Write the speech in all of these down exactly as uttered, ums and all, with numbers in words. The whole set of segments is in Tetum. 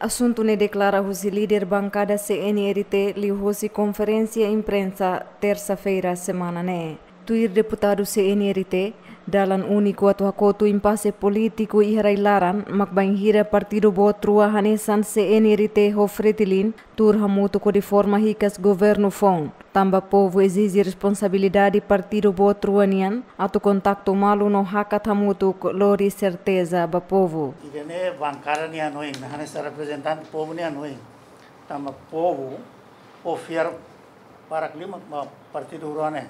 Asuntu ne'e deklara husi líder bankada C N R T liuhusi konferénsia imprensa tersa-feira semana ne'e. Tuir deputadu C N R T, dalan úniku atu hakotu impase polítiku iha rai-laran mak bainhira partidu boot rua hanesan C N R T ho Fretilin tuur hamutuk hodi forma hikas governu foun. Tanba povu ezije responsabilidade partidu boot rua nian atu kontaktu malu no hakat hamutuk lori serteza ba povu. Ida-ne'e bankada nia hanoin, hanesan reprezentante povu nia hanoin. Tanba povu, povu fiar barak liu mak ba partidu rua ne'e.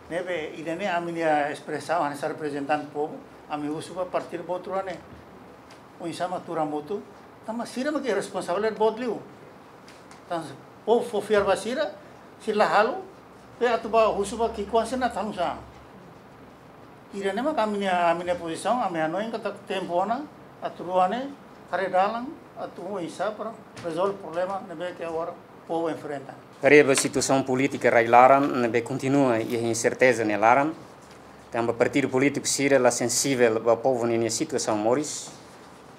Ne'ebé ida-ne'e ami-nia espresaun hanesan reprezentante povu, ami husu ba partidu boot rua ne'e. Oinsá mak tuur hamutuk, tanba sira mak responsabilidade boot liu. Tanba povu fó fiar ba sira, sira la halo, be atu ba husu ba ki'ikoan sira atu halo nu'usá. Ida-ne'e mak ami-nia, ami-nia pozisaun, ami hanoin katak tempu ona, atu rua ne'e, haree dalan, atu oinsá para rezolve problema ne'ebé ke agora povu enfrenta. Haree ba situasaun polítika rai-laran ne'ebé kontinua iha inserteza nia laran, tanba partidu polítiku sira la sensivel ba povu ninia situasaun moris,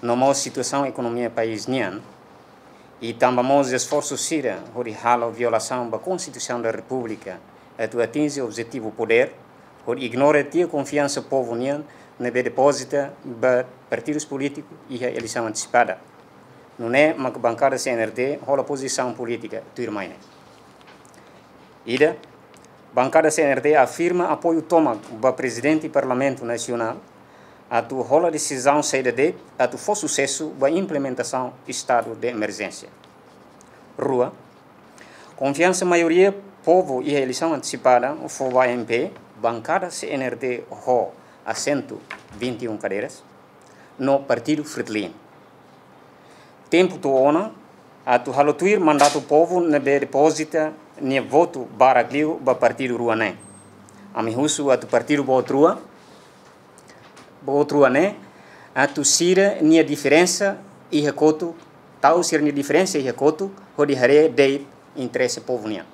no mós situasaun ekonomia país nian, i tanba mós esforsu sira hodi halo violasaun ba Konstituisaun da Repúblika atu atinje objetivu podér, hodi ignora tiha konfiansa povu nian ne'ebé depozita ba partidus polítiku iha eleisaun antesipada. Nune'e mak bankada C N R T hola pozisaun polítika tuirmai ne'e. Ida, bankada C N R T afirma apoiu tomak ba Prezidente Parlamentu Nasionál atu hola desizaun saida de'it atu fó susesu ba implementasaun estadu de emerjénsia. Rua, konfiansa maioria povu iha eleisaun antesipada fó ba M P, bankada C N R T ho asentu vinte e um cadeiras, no partidu Fretilin. Tempu to'o ona atu halo tuir mandatu povu ne'ebé depozita nia votu barak liu ba partidu rua ne'e. Ami husu atu partidu boot rua, boot rua ne'e, atu sira-nia diferensa iha kotuk, tau sira-nia diferensa iha kotuk, hodi haree de'it interese povu nian.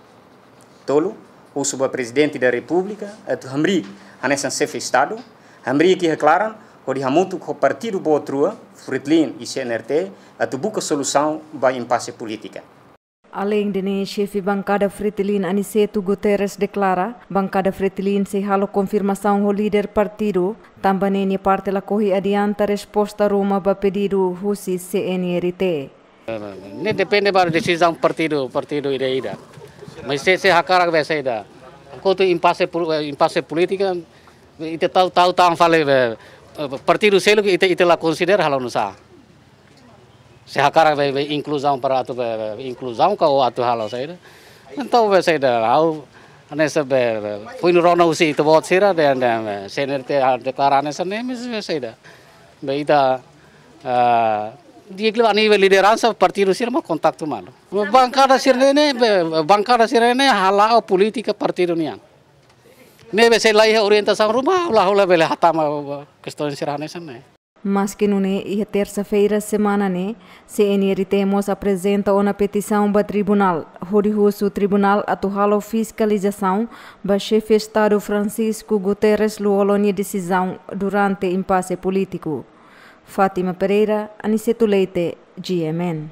Tolu, husu ba Prezidente da Repúblika atu hamriik hanesan xefe Estadu, hamriik iha klaran, hodi hamutuk ho partidu boot rua, Fretilin i C N R T, atu buka solusaun ba impase polítika. Aleinde ne'e, xefe bankada Fretilin Aniceto Guterres deklara, bankada Fretilin sei halo konfirmasaun ho líder partidu, tanba ne'e nia parte lakohi adianta resposta ruma ba pedidu husi C N R T. Ne'e depende ba desizaun partidu, partidu ida-ida. Mas se, se hakarak be saida. Kuandu impase pol-, eh, impase polítika, ita tau, tau tan fali be, eh, partidu seluk ita, ita la konsidera halo nu'usá. Se hakarak be, be inkluzaun para atu be, be inkluzaun ka ou atu halo saida. Entaun be saida, ha'u hanesan be, be, foin rona husi ita-boot sira dehan, dehan, be, C N R T deklara hanesan ne'e, mas be saida. Be ita, ah, di'ak liu a nivel lideransa partidu sira mak kontaktu malu. Bankada sira-ne'e, be, bankada sira-ne'e hala'o polítika partidu nian. Ne'ebé se la iha orientasaun ruma, la hola bele hatama kestaun sira hanesan ne'e. Maski nune'e, iha tersa-feira semana ne'e, C N R T mós aprezenta ona petisaun ba tribunál, hodi husu tribunál atu halo fiskalizasaun ba xefe Estadu Francisco Guterres Lú-Olo nia desizaun durante impase polítiku. Fátima Pereira, Aniceto Leite, G M N.